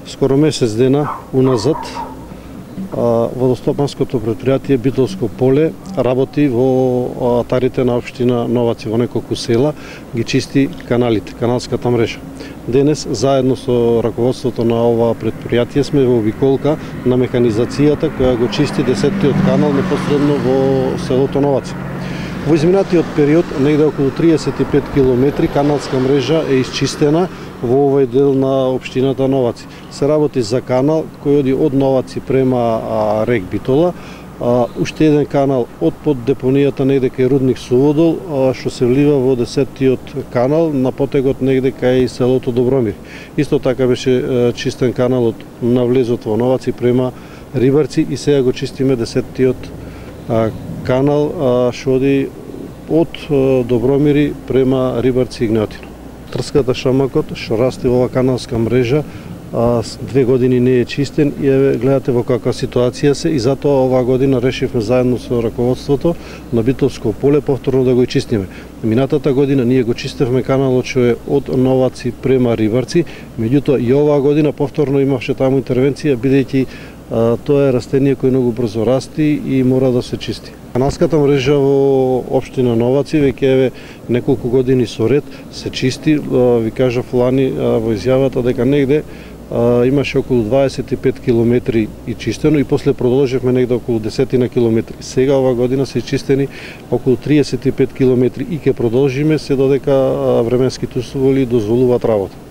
Скоро месец дена уназад водостопанското предпријатие Битолско поле работи во атарите на општина Новаци, во неколку села, ги чисти каналите, каналската мрежа. Денес, заедно со раководството на ова предпријатие, сме во обиколка на механизацијата која го чисти 10-тиот канал непосредно во селото Новаци. Во изминатиот период, негде околу 35 километри каналска мрежа е исчистена во овој дел на општината Новаци. Се работи за канал кој оди од Новаци према рек Битола, уште еден канал од под депонијата негде кај рудник Суводол, што се влива во 10-тиот канал на потегот негде кај селото Добромир. Исто така беше чистен каналот на влезот во Новаци према Рибарци и сега го чистиме 10-тиот канал што оди од Добромири према Рибарци и Игнатино. Трската шамакот што расте во ова каналска мрежа 2 години не е чистен и гледате во каква ситуација се и затоа оваа година решивме заедно со раководството на Битолско поле повторно да го чистиме. Минатата година ние го чистевме каналот што е од Новаци према Рибарци, меѓутоа и оваа година повторно имаше таму интервенција бидејќи тоа е растение кој многу брзо расти и мора да се чисти. Каналската мрежа во општина Новаци веќе неколку години со ред се чисти. Ви кажав лани во изјавата дека негде имаше околу 25 километри и чистено и после продолживме негде околу 10 километри. Сега ова година се чистени околу 35 километри и ќе продолжиме се додека временските услови дозволуваат работа.